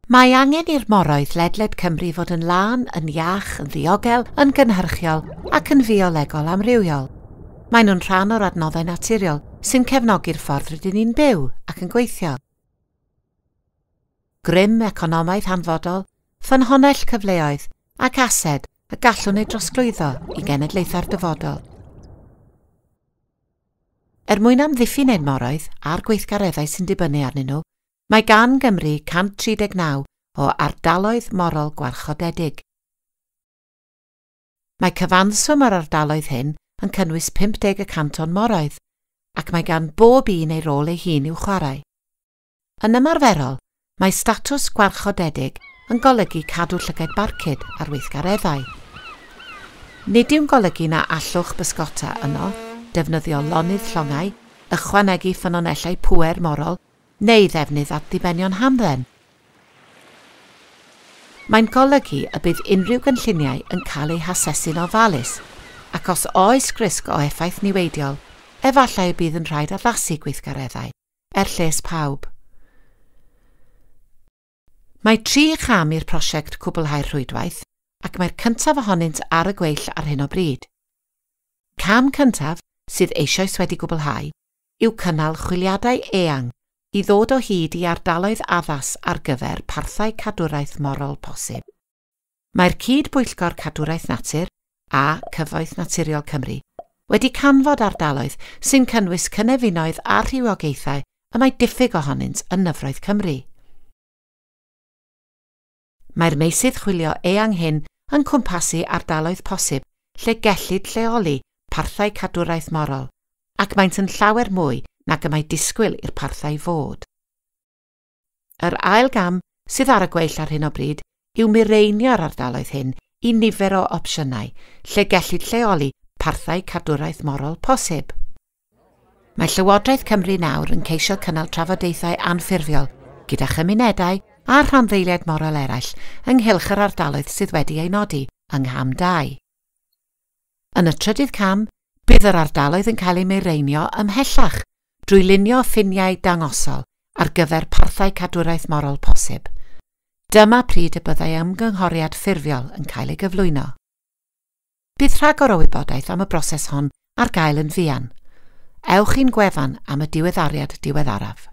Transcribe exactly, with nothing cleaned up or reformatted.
Mae angen i'r moroedd ledled Cymru fod yn lân, yn iach, yn ddiogel, yn gynhyrchiol ac yn fiolegol amrywiol. Maen nhw'n rhan o'r adnoddau naturiol sy'n cefnogi'r ffordd rydyn ni'n byw ac yn gweithio. Grym economaidd hanfodol, ffynhonnell cyfleoedd ac ased y gallwn ei drosglwyddo i genedlaethau'r dyfodol. Er mwyn amddiffyn ein moroedd a'r gweithgareddau sy'n dibynnu arnyn nhw, mae gan Gymru cant tri deg naw o ardaloedd morol gwarchodedig. Mae cyfanswm yr ardaloedd hyn yn cynnwys pump deg y cant o'n moroedd, ac mae gan bob un ei rôl ei hun i'w chwarae. Yn ymarferol, mae statws gwarchodedig yn golygu cadw llygaid barcud ar weithgareddau. Nid yw'n golygu na allwch bysgota yno, defnyddio lonydd llongau, ychwanegu ffynonellau pŵer morol, neu ddefnydd at ddibenion hamdden. Mae'n golygu y bydd unrhyw gynlluniau yn cael eu hasesu'n ofalus, ac os oes risg o effaith niweidiol, efallai y bydd yn rhaid addasu gweithgareddau, er lles pawb. Mae tri cham i'r prosiect cwblhau'r rhwydwaith, ac mae'r cyntaf ohonynt ar y gweill ar hyn o bryd. Cam cyntaf, sydd eisoes wedi gwblhau, yw cynnal chwiliadau eang i ddod o hyd i ardaloedd addas ar gyfer parthau cadwraeth morol posib. Mae'r Cyd-bwyllgor Cadwraeth Natur a Cyfoeth Naturiol Cymru wedi canfod ardaloedd sy'n cynnwys cynefinoedd a rhywogaethau y mae diffyg ohonynt yn nyfroedd Cymru. Mae'r meysydd chwilio eang hyn yn cwmpasu ardaloedd posib lle gellid lleoli parthau cadwraeth morol, ac maent yn llawer mwy nag y mae disgwyl i'r parthau fod. Yr ail gam sydd ar y gweill ar hyn o bryd yw mireinio'r ardaloedd hyn i nifer o opsiynau lle gellid lleoli parthau cadwraeth morol posib. Mae Llywodraeth Cymru nawr yn ceisio cynnal trafodaethau anffurfiol gyda chymunedau a rhanddeiliaid morol eraill ynghylch yr ardaloedd sydd wedi eu nodi yng Ngham dau. Yn y trydydd cam, bydd yr ardaloedd yn cael eu mireinio ymhellach drwy lunio ffiniau dangosol ar gyfer parthau cadwraeth morol posib. Dyma pryd y byddai ymgynghoriad ffurfiol yn cael ei gyflwyno. Bydd rhagor o wybodaeth am y broses hon ar gael yn fuan. Ewch i'n gwefan am y diweddariad diweddaraf.